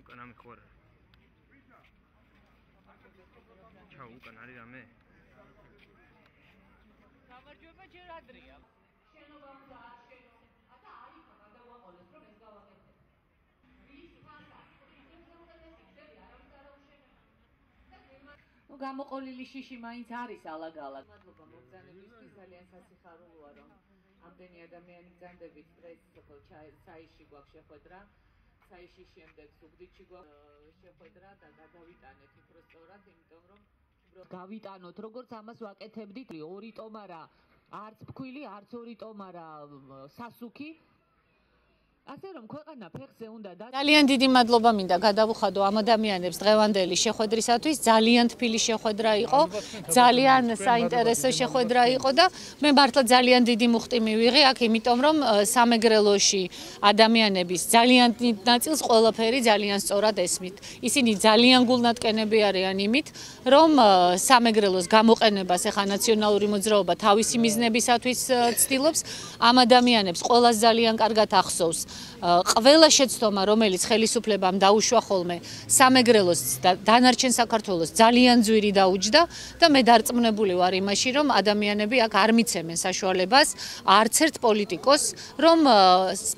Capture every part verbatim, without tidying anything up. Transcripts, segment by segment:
უკან ამი ხო არა. ჩაო უკან არის რამე? გამარჯვება ჯერ ადრეა. შენობა უნდა აღშენო. ატა არის გადავაყოლეს რომ ეს გავაკეთებ. ვის ფასად? ნუ გამოყოლილი შიში მაინც არის ალაგ-ალაგ. მადლობა მოგზაურობისთვის, ძალიან სასიხარულოა რომ ამდენი ადამიანი გზანდებით სტრესს საიში გვაქვს შეხვედრა. საიში შემდეგ სუგდიდში გვაქვს შეხვედრა და გადავიტანეთ უფრო სწორად, იმიტომ რომ გავიტანოთ როგორც ამას ვაკეთებდით ორი ტომარა არც ფქვილი, არც ორი ტომარა სასუქი. ასე რომ ქვეყანა ფეხზე უნდა და ძალიან დიდი მადლობა მინდა გადავუხადო ამ ადამიანებს დღევანდელი შეხვედრისათვის. ძალიან თბილი შეხვედრა იყო, ძალიან საინტერესო შეხვედრა იყო და მე მართლა ძალიან დიდი მუხტი მივიღე აქ, იმიტომ რომ სამეგრელოში ადამიანების ძალიან დიდ ნაწილს ყველაფერი ძალიან სწორად ესმით. ისინი ძალიან გულნატკენები არიან იმით, რომ სამეგრელოს გამოყენებას ეხა ნაციონალური მოძრაობა თავისი მიზნებისათვის ცდილობს. ამ ადამიანებს ყველას ძალიან კარგად ახსოვს ყველა შეცდომა, რომელიც ხელისუფლებამ დაუშვა ხოლმე სამეგრელოს და დანარჩენ საქართველოს ძალიან ძვირი დაუჯდა და მე დარწმუნებული ვარ იმაში, რომ ადამიანები აქ არ მიცემენ საშუალებას არც ერთ პოლიტიკოს, რომ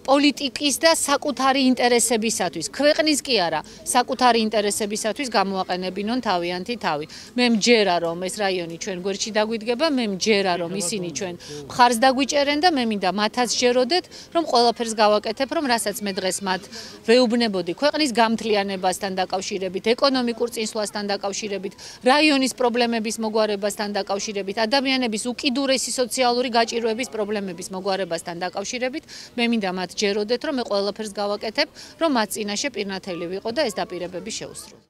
პოლიტიკის და საკუთარი ინტერესებისათვის, ქვეყნის კი არა, საკუთარი ინტერესებისათვის გამოაყენებინონ თავიანთი თავი. მე მჯერა რომ ეს რაიონი ჩვენ გვერდში დაგვიდგება, მე მჯერა რომ ისინი ჩვენ მხარს დაგვიჭერენ და მე მინდა მათაც ჯეროდეთ, რომ ყველაფერს გავაკეთებ, რომ რასაც მე დღეს მათ ვეუბნებოდი ქვეყნის გამთლიანებასთან დაკავშირებით, ეკონომიკურ წინსვლასთან დაკავშირებით, რაიონის პრობლემების მოგვარებასთან დაკავშირებით, ადამიანების უკიდურესი სოციალური გაჭირვების პრობლემების მოგვარებასთან დაკავშირებით, მე მინდა მათ ჯეროდეთ, რომ მე ყველაფერს გავაკეთებ, რომ მათ წინაშე პირნათელი ვიყო და ეს დაპირებები შეუსრულო.